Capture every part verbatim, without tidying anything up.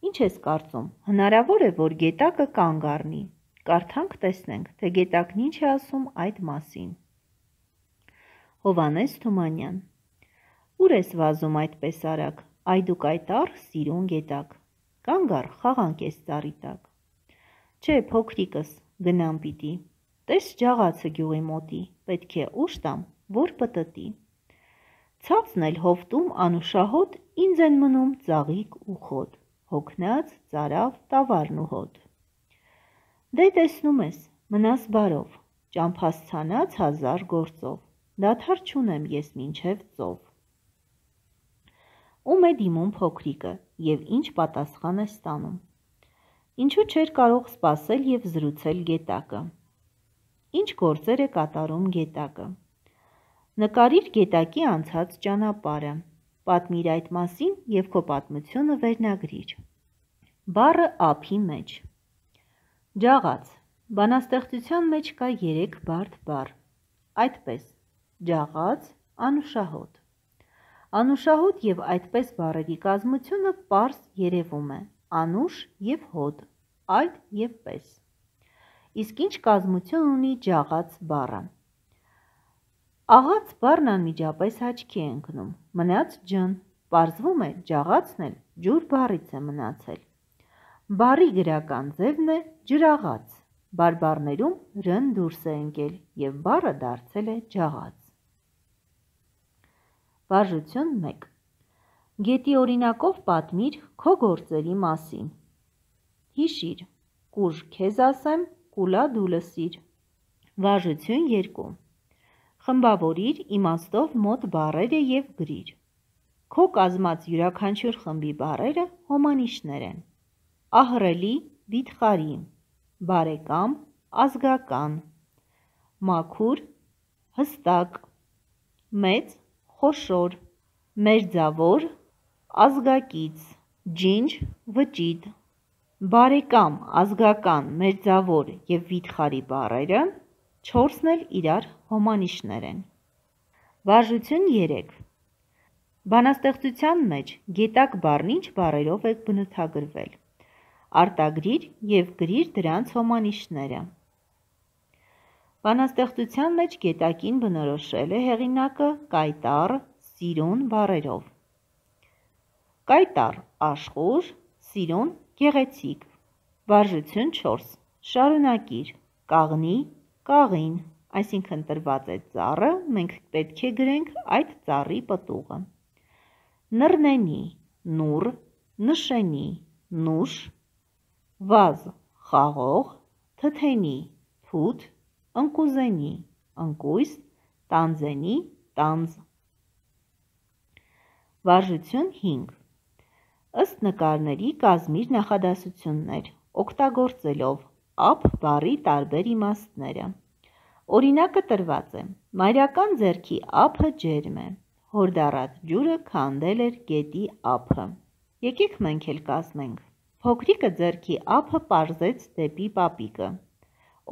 Ինչ ես կարծում, հնարավոր է, որ գետակը կանգ առնի։ Կարդանք տեսնենք, թե գետակն ինչ է ասում այդ մասին։ Հովհաննես Թումանյան։ Ուր ես վազում այդպես արագ, այդուք այտար սիրուն գետակ։ Կանգ առ, խաղանք ես ծառի տակ։ Չէ, փոքրիկս, գնամ պիտի։ Տես ջաղացը գյուղի մոտի, պետք է ուշ տամ, որ պտտի։ Ցածն էլ հովտում անուշահոտ, ինձ են մնում ծաղիկ ու խոտ, հոգնած ծարավ տավարն ու հոտ։ Դե տեսնում ես, մնաս բարով, ճամփասցանած հազար գործով, դադար չունեմ ես մինչև ծով։ Ում է դիմում փոքրիկը և ինչ պատասխան է ստանում։ Ինչու չէր կարող սպասել և զրուցել գետակը։ Ինչ գործեր է կատարում գետակը։ Նկարիր գետակի անցած ճանապարհը, պատմիր այդ մասին և քո պատմությունը վերնագրիր։ Բառը ափի մեջ։ Ջաղաց, բանաստեղծության մեջ կա երեք բարդ բառ, այդպես, ջաղաց, անուշահոտ։ Անուշահոտ և այդպես բառերի կազմությունը պարզ երևում է, անուշ և հոտ, այդ և պես։ Իսկ ինչ կազմություն ունի ջաղաց բառը։ Աղաց բառն անմիջապես աչքի է ընկնում, մնաց ջն, պարզվում է ջաղացն էլ ջուր բառից է մնացել։ Բառի գրական ձևն է ջրաղաց, բարբառներում ռ-ն դուրս է ընկել և բառը դարձել է ջաղաց։ Վարժություն մեկ։ Գետի օրինակով պատմիր քո գործերի մասին։ Հիշիր, կուժ քեզ ասեմ, կուլա դու լսիր։ Վարժություն երկու։ Խմբավորիր իմաստով մոտ բառերը և գրիր։ Քո կազմած յուրաքանչյուր խմբի բառերը հոմանիշներ են։ Ահռելի, վիթխարի, բարեկամ, ազգական, մաքուր, հստակ, մեծ, խոշոր, մերձավոր, ազգակից, ջինջ, վճիտ։ Բարեկամ, ազգական, մերձավոր և վիթխարի բառերը չորսն էլ իրար հոմանիշներ են։ Վարժություն երեք։ Բանաստեղծության մեջ գետակ բառն ինչ բառերով է բնութագրվել։ Արտագրիր և գրիր դրանց հոմանիշները։ Բանաստեղծության մեջ գետակին բնորոշել է հեղինակը կայտառ, սիրուն բառերով։ Կայտառ, աշխույժ, սիրուն, գեղեցիկ։ Վարժություն չորս։ Շարունակիր, կաղնի, կաղին, այսինքն տրված է ծառը, մենք պետք է գրենք այդ ծառի պտուղը։ Նռնենի, նուռ, նշենի, նուշ, վազ, խաղող, թթենի, թութ, ընկուզենի, ընկույզ, տանձենի, տանձ։ Վարժություն հինգ։ Ըստ նկարների կազմիր նախադասություններ, օգտագործելով ափ բառի տարբեր իմաստները։ Օրինակը տրված է. մայրական ձեռքի ափը ջերմ է, հորդառատ ջուրը քանդել էր գետի ափը։ Եկեք մենք էլ կազմենք։ Փոքրիկը ձեռքի ափը պարզեց դեպի պապիկը,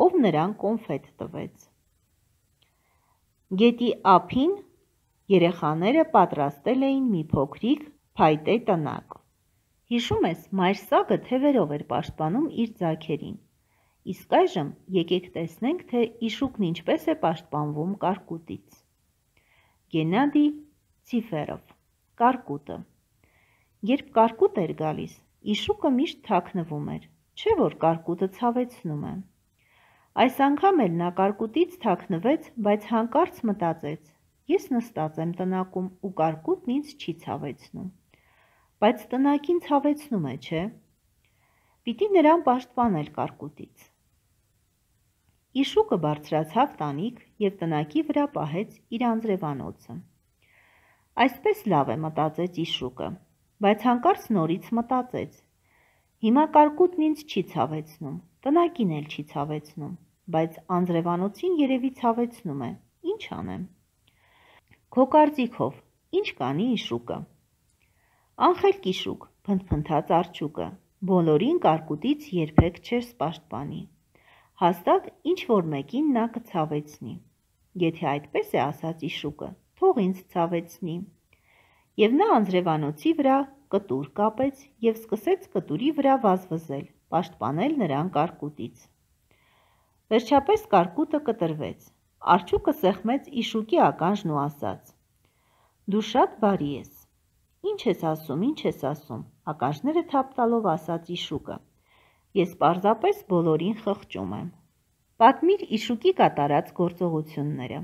ով նրան կոնֆետ տվեց։ Գետի ափին երեխաները պատրաստել էին մի փոքրիկ փայտե տնակ։ Հիշում ես, մայր սագը թևերով էր պաշտպանում իր ձագերին։ Իսկ այժմ եկեք տեսնենք, թե իշուկն ինչպես է պաշտպանվում կարկուտից։ Գենադի Ցիֆերով, Կարկուտը։ Երբ կարկուտ էր գալիս, իշուկը միշտ թաքնվում էր, չէ՞ որ կարկուտը ցավեցնում է։ Այս անգամ էլ նա կարկուտից թաքնվեց, բայց հանկարծ մտածեց. ես նստած եմ տնակում ու կարկուտն ինձ չի ցավեցնում։ Բայց տնակին ցավեցնում է, չէ՞։ Պիտի նրան պաշտպանել կարկուտից։ Իշուկը բարձրացավ տանիք և տնակի վրա պահեց իր անձրևանոցը։ Այսպես լավ է, մտածեց իշուկը, բայց հանկարծ նորից մտածեց. հիմա կարկուտն ինձ չի ցավեցնում, տնակին էլ չի ցավեցնում, բայց անձրևանոցին երևի ցավեցնում է, ինչ անեմ։ Քո կարծիքով ինչ կանի իշուկը։ Անխելք իշուկ, փնթփնթաց արջուկը, բոլորին կարկուտից երբեք չես պաշտպանի։ Հաստատ ինչ-որ մեկին նա կցավեցնի։ Եթե այդպես է ասած իշուկը, թող ինձ ցավեցնի։ Եվ նա անձրևանոցի վրա կտուր կապեց և սկսեց կտուրի վրա վազվզել, պաշտպանել նրան կարկուտից։ Վերջապես կարկուտը կտրվեց, արջուկը սեղմեց Իշուկի ականջն ու ասաց. «Դու շատ բարի ես»։ «Ինչ ես ասում, ինչ ես ասում», ականջները թափ տալով ասաց Իշուկը, «ես պարզապես բոլորին խղճում եմ»։ Պատմիր Իշուկի կատարած գործողությունները,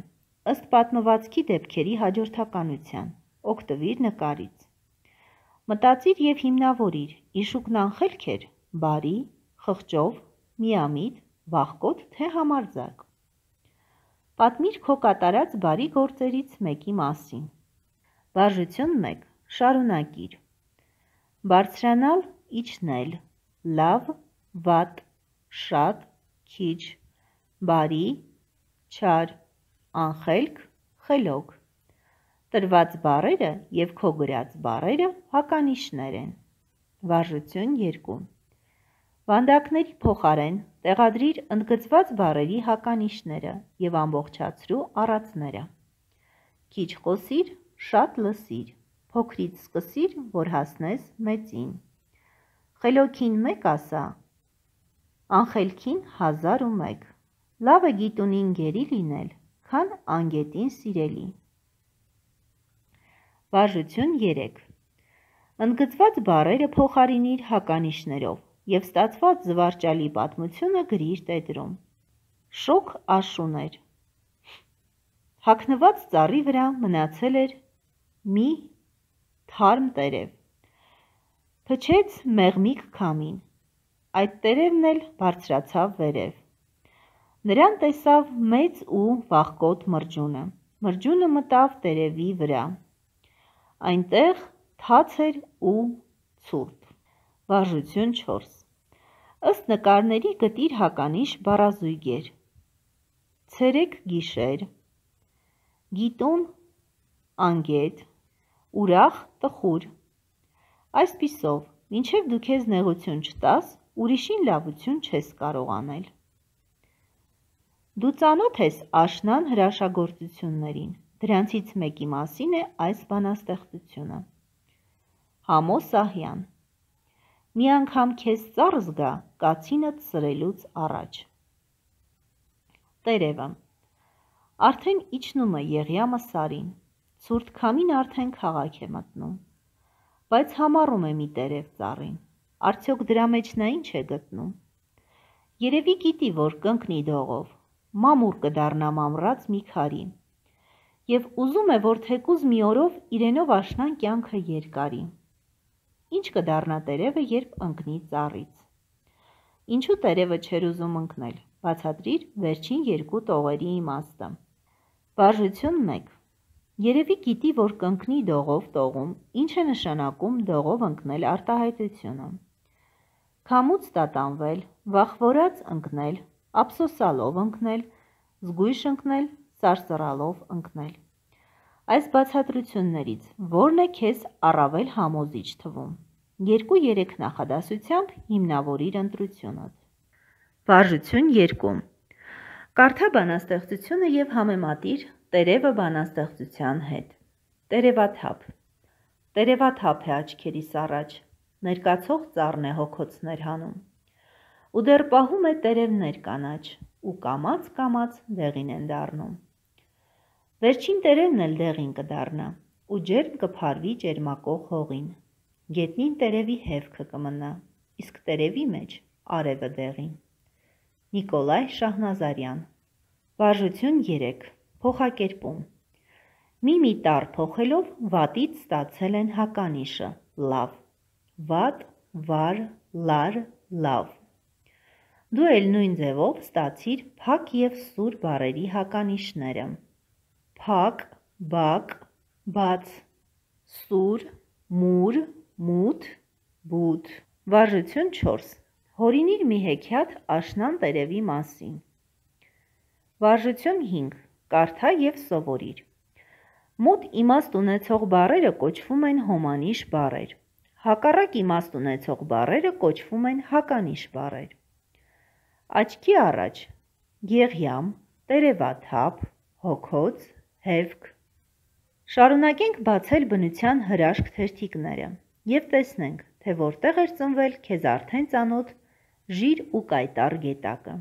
ըստ պատմվածքի դեպքերի հաջորդականության, օգտվիր նկարից։ Մտածիր և հիմնավորիր, Իշուկն անխելք էր, բարի, խղճով, միամիտ, վախկոտ, թե համարձակ։ Պատմիր քո կատարած բարի գործերից մեկի մասին։ Վարժություն մեկ. Շարունակիր։ Բարձրանալ, իջնել, լավ, վատ, շատ, քիչ, բարի, չար, անխելք, խելոք։ Տրված բառերը և քո գրած բառերը հականիշներ են։ Վարժություն երկու. Վանդակների փոխարեն տեղադրիր ընդգծված բառերի հականիշները և ամբողջացրու առածները։ Քիչ խոսիր, շատ լսիր, փոքրից սկսիր, որ հասնես մեծին։ Խելոքին մեկ ասա, անխելքին հազար ու մեկ։ Լավ է գիտունին գերի լինել, քան անգետին սիրելի։ Վարժություն երեք. Ընդգծված բառերը փոխարինիր հականիշներով և ստացված զվարճալի պատմությունը գրիր տետրում։ Շոգ աշուն էր։ Հագնված ծառի վրա մնացել էր մի թարմ տերև։ Փչեց մեղմիկ քամին, այդ տերևն էլ բարձրացավ վերև։ Նրան տեսավ մեծ ու վախկոտ մրջյունը, մրջյունը մտավ տերևի վրա, այնտեղ թաց էր ու ցուրտ։ Վարժություն չորս. Ըստ նկարների գտիր հականիշ բառազույգեր. ցերեկ գիշեր, գիտուն անգետ, ուրախ տխուր։ Այսպիսով, մինչև դու քեզ նեղություն չտաս, ուրիշին լավություն չես կարող անել։ Դու ծանոթ ես աշնան հրաշագործություններին, դրանցից մեկի մասին է այս բանաստեղծությունը։ Համո Սահյան. Մի անգամ քեզ ծառ զգա կացինդ սրելուց առաջ։ Տերևը. Արդեն իջնում է Եղյամը Սարին, ցուրտ քամին արդեն քաղաք է մտնում, բայց համառում է մի տերև ծառին, արդյոք դրա մեջ նա ինչ է գտնում։ Երևի գիտի, որ կընկնի դողով, մամուռ կդառնա մամռած մի քարի, և ուզում է, որ թեկուզ մի օրով իրենով աշնան կյանքը երկարի։ Ինչ կդառնա տերևը, երբ ընկնի ծառից։ Ինչու տերևը չէր ուզում ընկնել, բացատրիր վերջին երկու տողերի իմաստը։ Վարժություն մեկ. Երևի գիտի, որ կընկնի դողով տողում, ինչ է նշանակում դողով ընկնել արտահայտությունը։ Քամուց տատանվել, վախվորած ընկնել, ափսոսալով ընկնել, զգույշ ընկնել, սարսռալով ընկնել։ Այս բացատրություններից ո՞րն է քեզ առավել համոզիչ թվում։ Երկու-երեք նախադասությամբ հիմնավորիր ընտրությունդ։ Վարժություն երկու. Կարդա բանաստեղծությունը և համեմատիր տերևը բանաստեղծության հետ։ Տերևաթափ. Տերևաթափ է աչքերիս առաջ, ներկացող ծառն է հոգոցներ հանում, ու դեռ պահում է տերևներ կանաչ, ու կամաց-կամաց դեղին են դառնում։ Վերջին տերևն էլ դեղին կդառնա, ու ջերմ կփարվի ճերմակող հողին, գետնին տերևի հևքը կմնա, իսկ տերևի մեջ արևը դեղին։ Նիկոլայ Շահնազարյան. Վարժություն երեք. Փոխակերպում. Մի-մի տառ փոխելով վատից ստացել են հականիշը լավ, վատ, վար, լար, լավ։ Դու էլ նույն ձևով ստացիր փակ և սուր բառերի հականիշները. փակ, բակ, բաց, սուր, մուր, մութ, բութ։ Վարժություն չորս. Հորինիր մի հեքիաթ աշնան տերևի մասին։ Վարժություն հինգ. Կարդա և սովորիր։ Մոտ իմաստ ունեցող բառերը կոչվում են հոմանիշ բառեր, հակառակ իմաստ ունեցող բառերը կոչվում են հականիշ բառեր։ Աչքի առաջ Եղյամ, տերևաթափ, հոգոց, հևք։ Շարունակենք բացել բնության հրաշք թերթիկները։ և տեսնենք, թե որտեղ էր ծնվել քեզ արդեն ծանոթ ժիր ու կայտառ գետակը։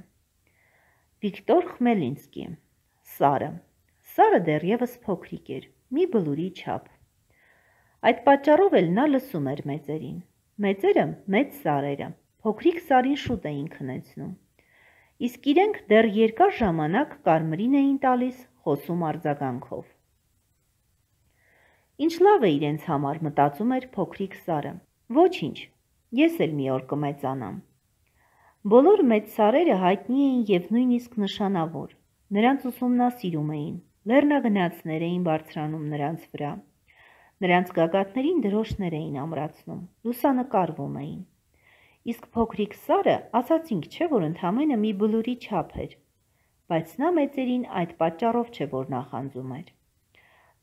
Վիկտոր Խմելինսկի։ Սարը։ Սարը դեռևս փոքրիկ էր, մի բլուրի չափ։ Այդ պատճառով էլ նա լսում էր մեծերին։ Մեծերը մեծ սարերը, փոքրիկ սարին շուտ էին քնեցնում։ Իսկ իրենք դեռ երկար ժամանակ կարմրին էին տալիս խոսում արձագանքով։ Ինչ լավ է իրենց համար, մտածում էր փոքրիկ սարը։ Ոչինչ, ես էլ մի օր կմեծանամ։ Բոլոր մեծ սարերը հայտնի էին և նույնիսկ նշանավոր, նրանց ուսումնասիրում էին, լեռնագնացներ էին բարձրանում նրանց վրա, նրանց գագաթներին դրոշներ էին ամրացնում, լուսանկարվում էին։ Իսկ փոքրիկ սարը, ասացինք չէ, որ ընդամենը մի բլուրի չափ էր, բայց նա մեծերին այդ պատճառով չէ, որ նախանձում էր։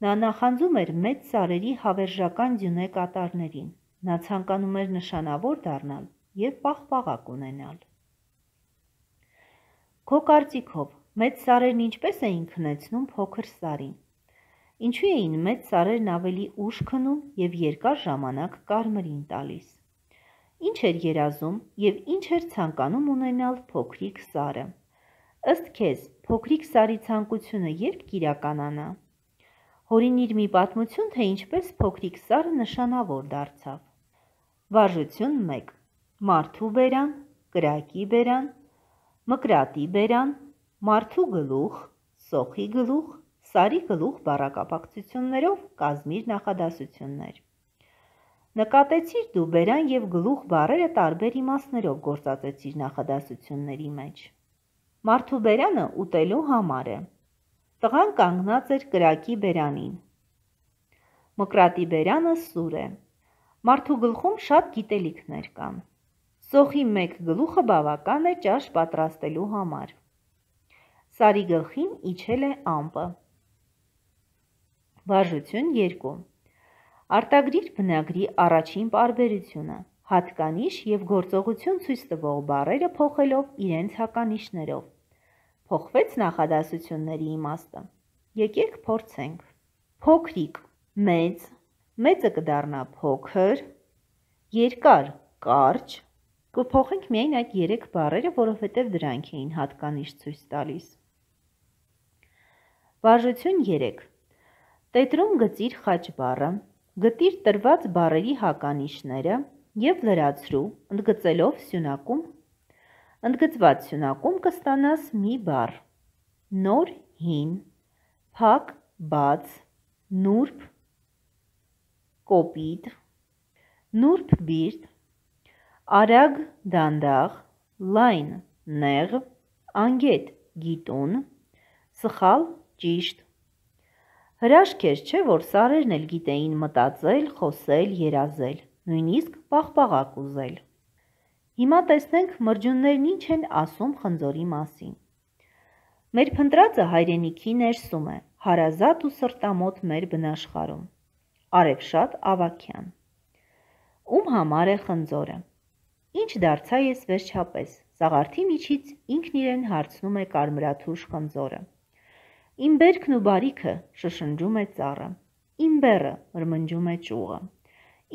Նա նախանձում էր մեծ սարերի հավերժական ձյունե կատարներին, նա ցանկանում էր նշանավոր դառնալ և պաղպաղակ ունենալ։ Քո կարծիքով, մեծ սարերն ինչպես էին քնեցնում փոքր սարին։ Ինչու էին մեծ սարերն ավելի ուշ քնում և երկար ժամանակ կարմրին տալիս։ Ինչ էր երազում և ինչ էր ցանկանում ունենալ փոքրիկ սարը։ Ըստ քեզ, փոքրիկ սարի ցանկությունը երբ կիրականանա։ Հորինիր մի պատմություն, թե ինչպես փոքրիկ սարը նշանավոր դարձավ։ Վարժություն մեկ. Մարդու բերան, կրակի բերան, մկրատի բերան, մարդու գլուխ, սոխի գլուխ, սարի գլուխ բառակապակցություններով կազմիր նախադասություններ։ Նկատեցիր դու բերան և գլուխ բառերը տարբեր իմաստներով գործածեցիր նախադասությունների մեջ։ Մարդու բերանը ուտելու համար է։ Տղան կանգնած էր կրակի բերանին։ Մկրատի բերանը սուր է։ Մարդու գլխում շատ գիտելիքներ կան։ Սոխի մեկ գլուխը բավական է ճաշ պատրաստելու համար։ Սարի գլխին իջել է ամպը։ Վարժություն երկու. Արտագրիր բնագրի առաջին պարբերությունը, հատկանիշ և գործողություն ցույց տվող բառերը փոխելով իրենց հականիշներով։ Փոխվեց նախադասությունների իմաստը։ Եկեք փորձենք։ Փոքրիկ, մեծ, մեծը կդառնա փոքր, երկար, կարճ, կփոխենք միայն այդ երեք բառերը, որովհետև դրանք էին հատկանիշ ցույց տալիս։ Վարժություն երեք. Տետրում գծիր խաչ բառը, գտիր տրված բառերի հականիշները և լրացրու, ընդգծելով սյունակում, ընդգծված սյունակում կստանաս մի բառ. նոր, հին, փակ, բաց, նուրբ, կոպիտ, նուրբ բիրտ, արագ, դանդաղ, լայն, նեղ, անգետ, գիտուն, սխալ, ճիշտ։ Հրաշք էր, չէ՞, որ սարերն էլ գիտեին մտածել, խոսել, երազել, նույնիսկ պաղպաղակ ուզել։ Հիմա տեսնենք մրջյուններն ինչ են ասում խնձորի մասին։ Մեր փնտրածը հայրենիքի ներսում է, հարազատ ու սրտամոտ մեր բնաշխարհում։ Արևշատ Ավագյան։ Ում համար է խնձորը։ Ինչ դարձա ես վերջապես, սաղարթի միջից ինքն իրեն հարցնում է կարմրաթուշ խնձորը։ Իմ բերքն ու բարիքը, շշնջում է ծառը, իմ բեռը, մրմնջում է ճյուղը,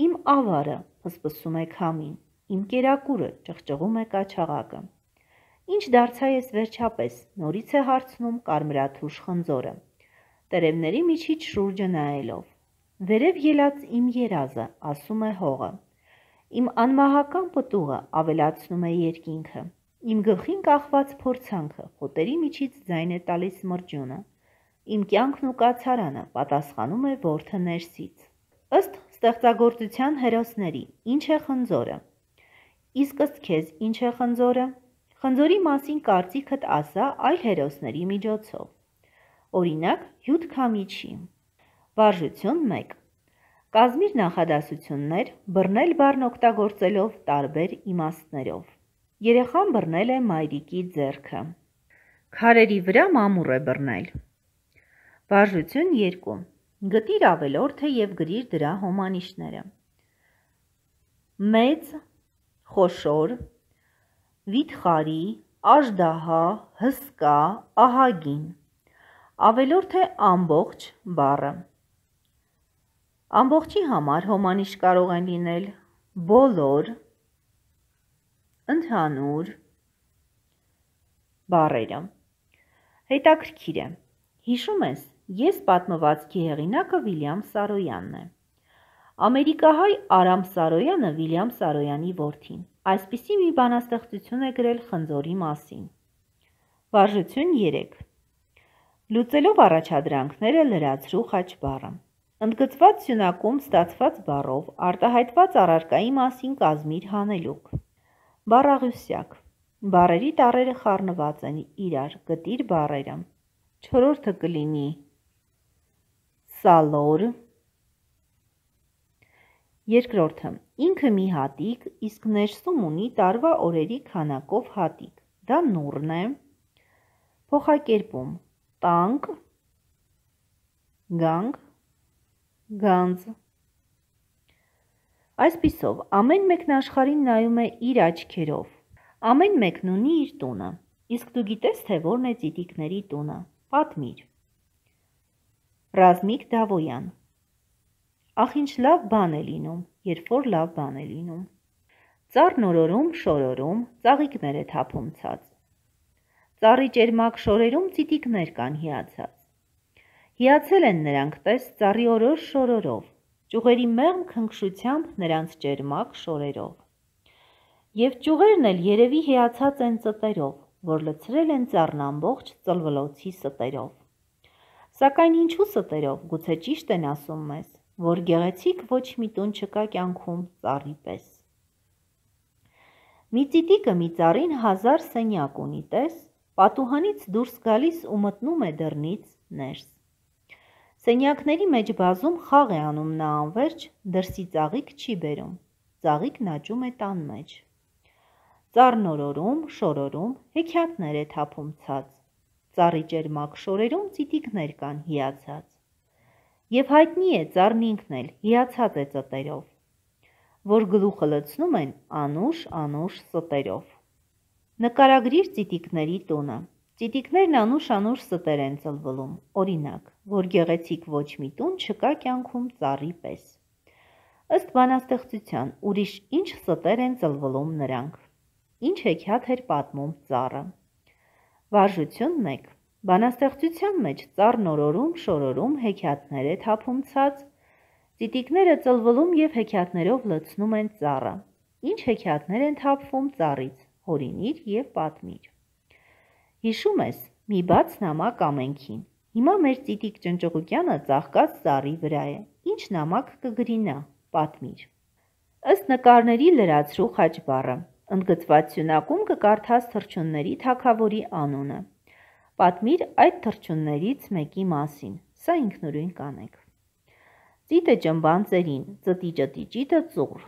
իմ ավարը, փսփսում է քամին, իմ կերակուրը, ճղճղում է կաչաղակը։ Ինչ դարձա ես վերջապես, նորից է հարցնում կարմրաթուշ խնձորը, տերևների միջից շուրջը նայելով։ Վերև ելած իմ երազը, ասում է հողը, իմ անմահական պտուղը, ավելացնում է երկինքը, իմ գլխին կախված փորձանքը, հոտերի միջից ձայն է տալիս մրջյունը, իմ կյանքն ու կացարանը, պատասխանում է որդը ներսից։ Ըստ ստեղծագործության հերոսների, ինչ է խնձորը։ Իսկ ըստ քեզ ինչ է խնձորը։ Խնձորի մասին կարծիքդ ասա այլ հերոսների միջոցով։ Օրինակ, Հյութ Քամիչի։ Վարժություն մեկ. Կազմիր նախադասություններ, բռնել բառն օգտագործելով տարբեր իմաստներով։ Երեխան բռնել է մայրիկի ձեռքը։ Քարերի վրա մամուռ է բռնել։ Վարժություն երկու. Գտիր ավելորդը և գրիր դրա հոմանիշները։ Մեծ, խոշոր, վիթխարի, աժդահա, հսկա, ահագին։ Ավելորդ է ամբողջ բառը։ Ամբողջի համար հոմանիշ կարող են լինել բոլոր, ընդհանուր բառերը։ Հետաքրքիր է, հիշում ես, ես պատմվածքի հեղինակը Վիլյամ Սարոյանն է։ Ամերիկահայ Արամ Սարոյանը Վիլյամ Սարոյանի որդին այսպիսի մի բանաստեղծություն է գրել խնձորի մասին։ Վարժություն երեք։ Լուծելով առաջադրանքները լրացրու խաչբառը։ Ընդգծված սյունակում ստացված բառով արտահայտված առարկայի մասին կազմիր հանելուկ։ Բառաղյուսյակ։ Բառերի տառերը խառնված են իրար, գտիր բառերը։ Չորրորդը կլինի սալոր։ Երկրորդը ինքը մի հատիկ, իսկ ներսում ունի տարվա օրերի քանակով հատիկ, դա նուռն է։ Փոխակերպում տանկ, գանք, գանձ։ Այսպիսով, ամեն մեկն աշխարհին նայում է իր աչքերով, ամեն մեկն ունի իր տունը, իսկ դու գիտես, թե որն է ծիտիկների տունը, պատմիր։ Ռազմիկ Դավոյան։ Ախ ինչ լավ բան է լինում, երբ որ լավ բան է լինում։ Ծառն օրորում, շորորում, ծաղիկներ է թափում ցած։ Ծառի ճերմակ շորերում ծիտիկներ կան հիացած։ Հիացել են նրանք տես ծառի օրոր շորորով, ճյուղերի մեղմ քնքշությամբ նրանց ճերմակ շորերով։ Եվ ճյուղերն էլ երևի հիացած են ծտերով, որ լցրել են ծառն ամբողջ ծլվլոցի ստերով։ Սակայն ինչու ստերով, գուցե ճիշտ են ասում մեզ, որ գեղեցիկ ոչ մի տուն չկա կյանքում ծառի պես։ Մի ծիտիկը մի ծառին հազար սենյակ ունի տես, պատուհանից դուրս գալիս ու մտնում է դռնից ներս։ Սենյակների մեջ բազում խաղ է անում նա անվերջ, դրսի ծաղիկ չի բերում, ծաղիկն աճում է տան մեջ։ Ծառն օրորում, շորորում, հեքիաթներ է թափում ցած, ծառի ճերմակ շորերում ծիտիկներ կան հիացած։ Եվ հայտնի է ծառն ինքն էլ հիացած է ծտերով, որ գլուխը լցնում են անուշ-անուշ ստերով։ Նկարագրիր ծիտիկների տունը։ Ծիտիկներն անուշ-անուշ ստեր են ծլվլում, օրինակ, որ գեղեցիկ ոչ մի տուն չկա կյանքում ծառի պես։ Ըստ բանաստեղծության, ուրիշ ինչ ստեր են ծլվլում նրանք։ Ինչ հեքիաթ էր պատմում ծառը։ Վարժություն մեկ։ Բանաստեղծության մեջ ծառն օրորում, շորորում, հեքիաթներ է թափում ցած, ծիտիկները ծլվլում և հեքիաթներով լցնում են ծառը։ Ինչ հեքիաթներ են թափվում ծառից, հորինիր և պատմիր։ Հիշում ես, մի բաց նամակ ամենքին։ Հիմա մեր ծիտիկ ճնճղուկյանը ծաղկած ծառի վրա է։ Ինչ նամակ կգրի նա, պատմիր։ Ըստ նկարների լրացրու խաչբառը։ Ընդգծված սյունակում կկարդաս թռչունների թագավորի անունը։ Պատմիր այդ թռչուններից մեկի մասին, սա ինքնուրույն կանեք։ Ծիտը ճմբան ծերին, ծտի ճտի ճիտը ծուռ։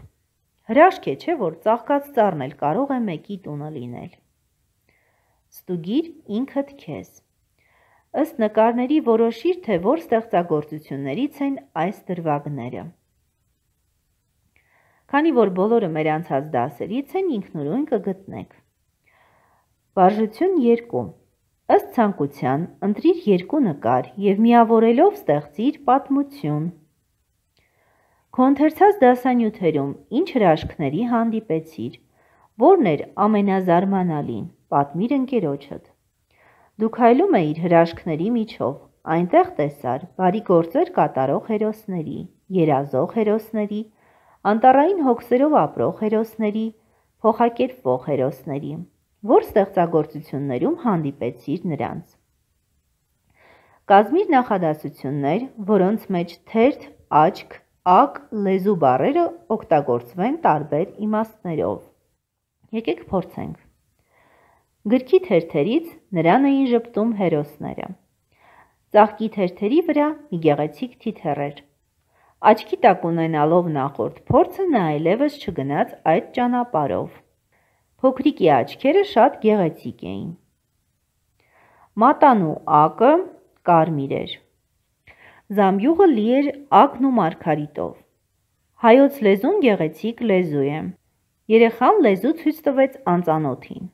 Հրաշք է, չէ, որ ծաղկած ծառն էլ կարող է մեկի տունը լինել։ Ստուգիր ինքդ քեզ։ Ըստ նկարների որոշիր, թե որ ստեղծագործություններից են այս դրվագները։ Քանի որ բոլորը մեր անցած դասերից են, ինքնուրույն կգտնեք։ Վարժություն երկու։ Ըստ ցանկության, ընտրիր երկու նկար և միավորելով ստեղծիր պատմություն։ Քո ընթերցած դասանյութերում ինչ հրաշքների հանդիպեցիր, որն էր ամենազարմանալին, պատմիր ընկերոջդ։ Դու քայլում էիր հրաշքների միջով, այնտեղ տեսար բարի գործեր կատարող հերոսների, երազող հերոսների, անտառային հոգսերով ապրող հերոսների, փոխակերպվող հերոսների, որ ստեղծագործություններում հանդիպեցիր նրանց։ Կազմիր նախադասություններ, որոնց մեջ թերթ, աչք, ակ, լեզու բառերը օգտագործվեն տարբեր իմաստներով։ Եկեք փորձենք։ Գրքի թերթերից նրան էին ժպտում հերոսները։ Ծաղկի թերթերի վրա մի գեղեցիկ թիթեռ էր։ Աչքի տակ ունենալով նախորդ փորձը նա այլևս չգնաց այդ ճանապարհով։ Փոքրիկի աչքերը շատ գեղեցիկ էին։ Մատանու ակը կարմիր էր։ Զամբյուղը լի էր ակն ու մարգարիտով։ Հայոց լեզուն գեղեցիկ լեզու է։ Երեխան լեզու ցույց տվեց անծանոթին։